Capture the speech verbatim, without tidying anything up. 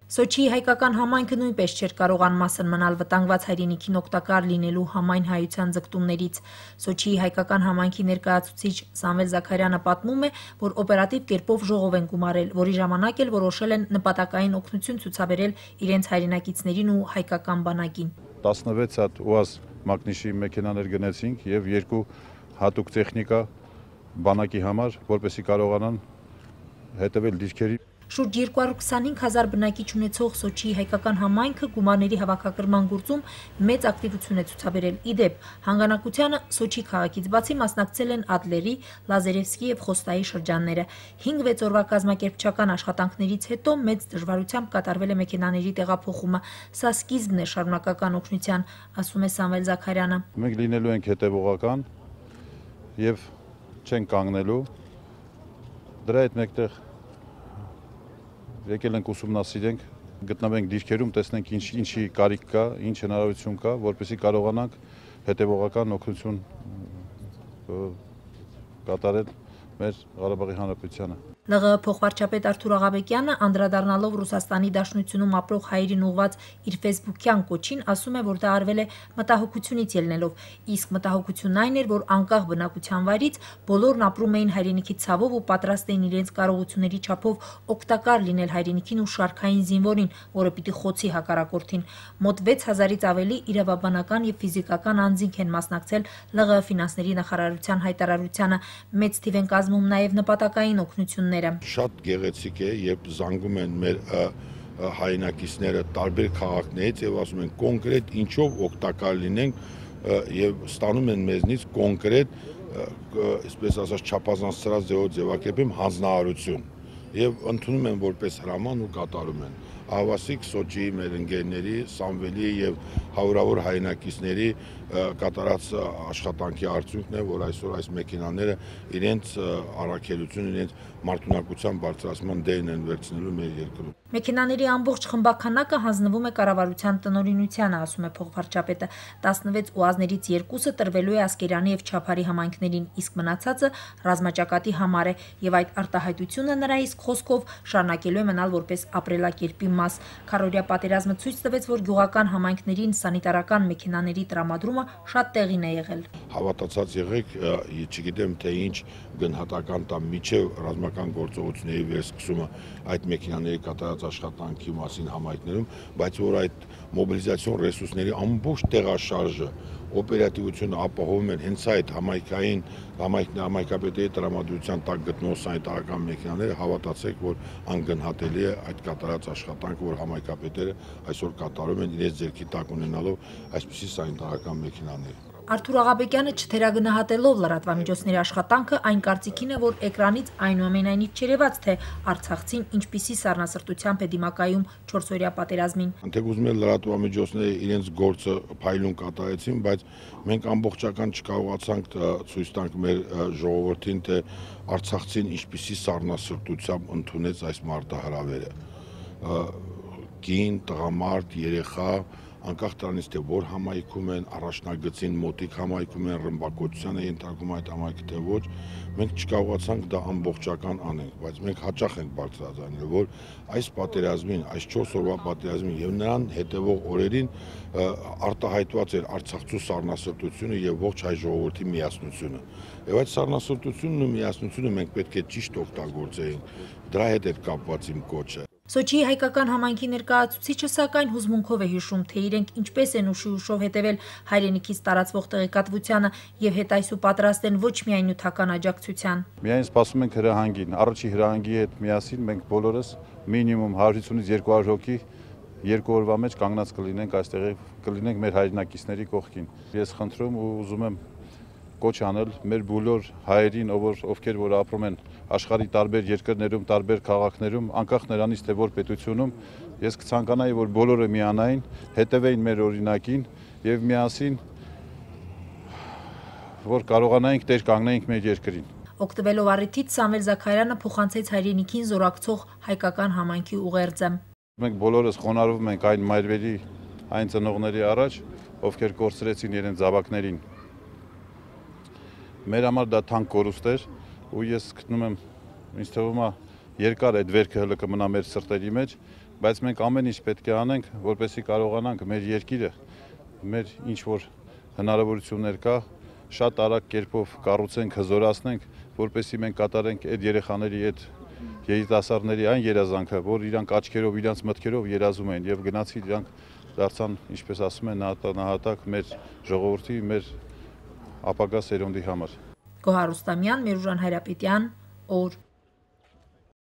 Սոչիի հայկական համայնքը նույնպես չէր կարող անմասն մնալ վտանգված հայրենիքին օգտակար լինելու համայն հայության ձգտումներից։ Սոչիի հայկական համայնքի ներկայացուցիչ Սամվել Զաքարյանը պատմում է, որ օպերատիվ կերպով ժողով են գումարել, որի ժամանակ էլ որոշել են նպատակային օգնություն ցուցաբերել իրենց հայրենակիցներին ու հայկական բանակին։ տասնվեց հատ ՈՒԱԶ մակնիշի մեքենաներ գնեցինք եւ երկու հատուկ տեխնիկա բանակի համար, որպեսզի կարողանան հետևել դիրքերի։ Շուրջ երկու հարյուր քսանհինգ հազար բնակիչ ունեցող Սոչիի հայկական համայնքը գումարների հավաքագրման գործում մեծ ակտիվություն է ցուցաբերել։ Իդեպ, հանգանակությանը Սոչի քաղաքից բացի մասնակցել են Ադլերի, Լազարևսկի եւ Խոստայի շրջանները։ հինգ-վեց օրվա կազմակերպչական աշխատանքներից հետո մեծ դժվարությամբ կատարվել է մեքենաների տեղափոխումը։ Սա սկիզբն է շարունակական օգնության, ասում է Սամվել Զաքարյանը։ Մենք լինելու ենք հետևողական եւ չենք կանգնելու։ Դրա հետ մեկտեղ եկել ենք ուսումնասիրենք, գտնվենք դիրքերում, տեսնենք ինչ ինչի կարիք կա, ինչ հնարավորություն կա, որպեսզի կարողանանք հետևողական օգնություն կատարել մեր Ղարաբաղի Հանրապետությանը։ ԼՂՀ փոխվարչապետ Արթուր Աղաբեկյանը անդրադառնալով Ռուսաստանի Դաշնությունում ապրող հայերին ուղված իր ֆեյսբուքյան կոչին, ասում է, որ դա արվել է մտահոգությունից ելնելով, իսկ մտահոգությունն այն էր, որ անկախ բնակության վայրից բոլորն ապրում էին հայրենիքի ցավով ու պատրաստ էին իրենց կարողությունների չափով օգտակար լինել հայրենիքին ու շարքային զինվորին, որը պիտի խոցի հակառակորդին։ Մոտ վեց հազարից ավելի իրավաբանական եւ ֆիզիկական անձինք են մասնակցել ԼՂՀ ֆինանսների նախարարության հայտարարությանը, մեծ թիվ են կազմում նաեւ նպատակային օգնություններ։ Շատ գեղեցիկ է, երբ զանգում են մեր հայրենակիցները տարբեր քաղաքներից եւ ասում են կոնկրետ ինչով օգտակար լինենք եւ ստանում են մեզնից կոնկրետ, այսպես ասած, չափազանցրած ձևով ձևակերպեմ հանձնարարություն եւ ընդունում են որպես հրաման ու կատարում են։ Ահավասիկ Սոչիի մեր ընկերների, Սամվելի եւ հարյուրավոր հայրենակիցների կատարած աշխատանքի արդյունքն է, որ այսօր այս մեքենաները իրենց առաքելություն, իրենց մարտունակության բարձրացման դերն են վերցնելու մեր երկրում։ Մեքենաների ամբողջ խմբականակը հանձնվում է կառավարության տնօրինությանը, ասում է փոխվարչապետը։ տասնվեց ՈՒԱԶներից երկուսը տրվելու է Ասկերանի եւ Չափարի համայնքներին, իսկ մնացածը ռազմաճակատի համար է եւ այդ արտահայտությունը նրա իսկ խոսքով շարունակելու է մնալ որպես ապրելակերպի մաս։ Քառօրյա պատերազմը ցույց տվեց, որ գյուղական համայնքներին սանիտարական մեքենաների տրամադրումը շատ տեղին է եղել։ Հավատացած եղեք, չգիտեմ թե ինչ գնահատական տամ միջև ռազմական գործողությունների վերսկսումը այդ մեքենաների կատարած աշխատանքի մասին համայնքներում, բայց որ այդ մոբիլիզացիոն ռեսուրսների ամբողջ տեղաշարժը, օպերատիվությունը ապահովում են հենց այդ համայնքային համայնքապետերի տրամադրության տակ գտնող սանիտարական մեքենաները, հավատացեք, որ անգնահատելի է այդ կատարած աշխատանքը, որ համայնքապետերը այսօր կատարում են իրենց ձեռքի տակ ունենալով այսպիսի սանիտարական մեքենաներ։ Արթուր Աղաբեկյանը չթերագնահատելով լրատվամիջոցների աշխատանքը, այն կարծիքին է, որ էկրանից այնուամենայնիվ չերևաց, թե արցախցին ինչպիսի սառնասրտությամբ է դիմակայում չորսօրյա պատերազմին։ Անթեք ուզում են լրատվամիջոցները իրենց գործը փայլուն կատարեցին, բայց մենք ամբողջական չկարողացանք ցույց տանք մեր ժողովրդին, թե արցախցին ինչպիսի սառնասրտությամբ ընդունեց այս մարտահրավերը։ Կին, տղամարդ, երեխա, անկախ դրանից թե որ համայնքում են, առաջնագծին մոտիկ համայնքում են, ռմբակոծության է ենթարկում այդ համայնքը թե ոչ, մենք չկարողացանք դա ամբողջական անենք, բայց մենք հաճախ ենք բարձրաձայնել, որ այս պատերազմին, այս չորս օրվա պատերազմին եւ նրան հետեւող օրերին արտահայտված էր Արցախցու սառնասրտությունը եւ ողջ հայ ժողովրդի միասնությունը։ Եվ այդ սառնասրտությունն ու միասնությունը մենք պետք է ճիշտ օգտագործեինք։ Դրա հետ էր կապված իմ կոչը։ Սոչիի հայկական համայնքի ներկայացուցիչը սակայն հուզմունքով է հիշում, թե իրենք ինչպես են ուշի ուշով հետևել հայրենիքից տարածվող տեղեկատվությանը եւ հետայսու պատրաստ են ոչ միայն նյութական աջակցության։ Միայն սպասում ենք հրահանգին, առաջի հրահանգի հետ միասին մենք բոլորս մինիմում հարյուրից երկու հարյուր հոգի երկու օրվա մեջ կանգնած կլինենք այստեղ, կլինենք մեր հայրենակիցների կողքին։ Ես խնդրում ու ուզում եմ կոչ անել մեր բոլոր հայերին, ովքեր որ ապրում են աշխարհի տարբեր երկրներում, տարբեր քաղաքներում, անկախ նրանից թե որ պետությունում, ես կցանկանայի, որ բոլորը միանային, հետևեին մեր օրինակին եւ միասին որ կարողանայինք տեր կանգնեինք մեր երկրին։ Օգտվելով առիթից Սամվել Զաքարյանը փոխանցեց հայրենիքին զորակցող հայկական համայնքի ուղերձը։ Մենք բոլորս խոնարհվում ենք այն մայրերի, այն ծնողների առաջ, ովքեր կորցրեցին իրենց զավակներին։ Մեր համար դա թանկ կորուստ էր ու ես գտնում եմ, ինձ թվում է երկար այդ վերքը հլը կմնա մեր սրտերի մեջ, բայց մենք ամեն ինչ պետք է անենք, որպեսզի կարողանանք մեր երկիրը, մեր ինչ որ հնարավորություններ կա, շատ արագ կերպով կառուցենք, հզորացնենք, որպեսզի մենք կատարենք այդ երեխաների, այդ երիտասարդների այն երազանքը, որ իրանք աչքերով, իրանք մտքերով երազում են եւ գնացի իրանք դարձան, ինչպես ասում են, նահատակ մեր ժողովրդի, մեր ապագա սերունդի համար։ Գոհար Ռուստամյան, Մերուժան Հայրապետյան, օր